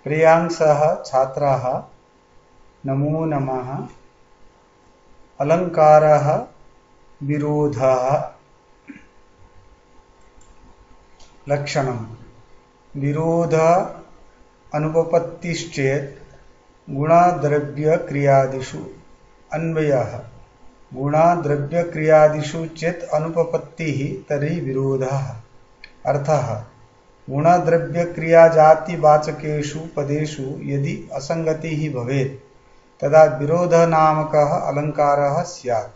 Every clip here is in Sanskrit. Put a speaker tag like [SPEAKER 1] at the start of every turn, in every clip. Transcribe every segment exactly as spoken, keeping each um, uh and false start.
[SPEAKER 1] प्रियांसः छात्राः नमो नमः। अलङ्कारः विरोधः। लक्षणम् विरोध अनुपपत्तिश्चेत् गुणद्रव्यक्रियादिषु। अन्वयः गुणद्रव्यक्रियादिषु चेत् अनुपपत्तिः तर्हि विरोधः। अर्थः गुणद्रव्यक्रियाजातिवाचकेषु पदेषु यदि असङ्गतिः भवेत् तदा विरोधनामकः अलङ्कारः स्यात्।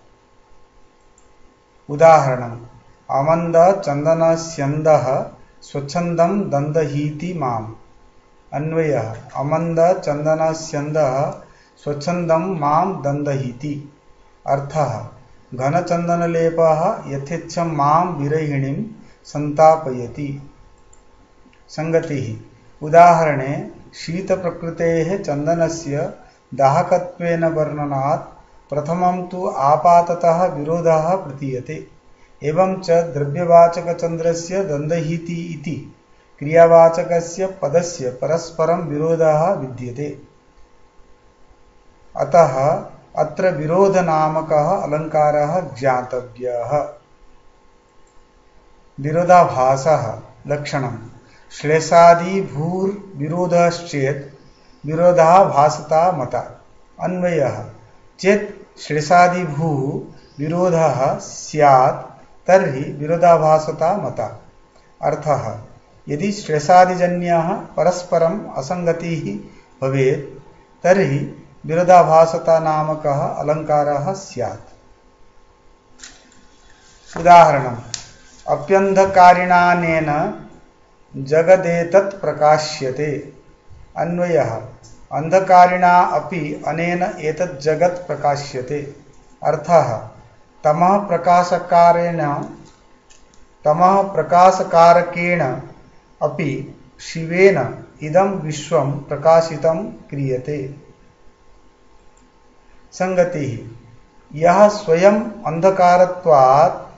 [SPEAKER 1] उदाहरणम् अमन्दचन्दनस्यन्दः स्वच्छन्दं दन्दहीति माम्। अन्वयः अमन्दचन्दनस्यन्दः स्वच्छन्दं मां दन्दहीति। अर्थः घनचन्दनलेपः यथेच्छं मां विरहिणीं सन्तापयति। संगतिः उदाहरणे शीतप्रकृतेः चन्दनस्य दाहकत्वेन वर्णनात् प्रथमं तु आपाततः विरोधः प्रतीयते। एवं च द्रव्यवाचकचन्द्रस्य दन्दहीति इति क्रियावाचकस्य पदस्य परस्परं विरोधः विद्यते। अतः अत्र विरोधनामकः अलङ्कारः ज्ञातव्यः। विरोधाभासः। लक्षणम् श्लेषादिभूर्विरोधश्चेत् विरोधाभासता मता। अन्वयः चेत् श्लेषादिभूः विरोधः स्यात् तर्हि विरोधाभासता मता। अर्थः यदि श्लेषादिजन्यः परस्परम् असङ्गतिः भवेत् तर्हि विरोधाभासता नामकः अलङ्कारः स्यात्। उदाहरणम् अप्यन्धकारिणानेन जगदेतत् प्रकाश्यते। अन्वयः अन्धकारिणा अपि अनेन एतत् जगत् प्रकाश्यते। अर्थः तमः प्रकाशकारेण तमः प्रकाशकारकेण अपि शिवेन इदं विश्वं प्रकाशितं क्रियते। संगतिः यः स्वयं अंधकारत्वात्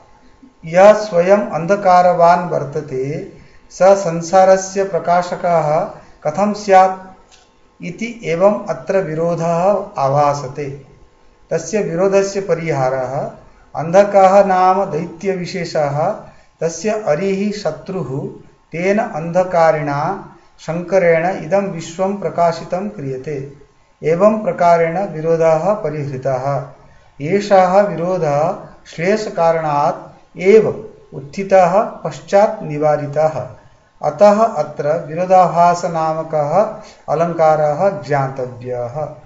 [SPEAKER 1] यः स्वयं अंधकारवान् वर्तते स संसारस्य प्रकाशकः कथं स्यात् इति एवं अत्र विरोधः आभासते। तस्य विरोधस्य परिहारः अंधकः नाम दैत्यविशेषः तस्य अरिः शत्रुः तेन अंधकारिणा शंकरेण इदं विश्वं प्रकाशितं क्रियते। एवं प्रकारेण विरोधः परिहृतः। एषः विरोधः श्लेषकारणात् एव उत्थितः पश्चात् निवारितः। अतः अत्र विरोधाभासनामकः अलङ्कारः ज्ञातव्यः।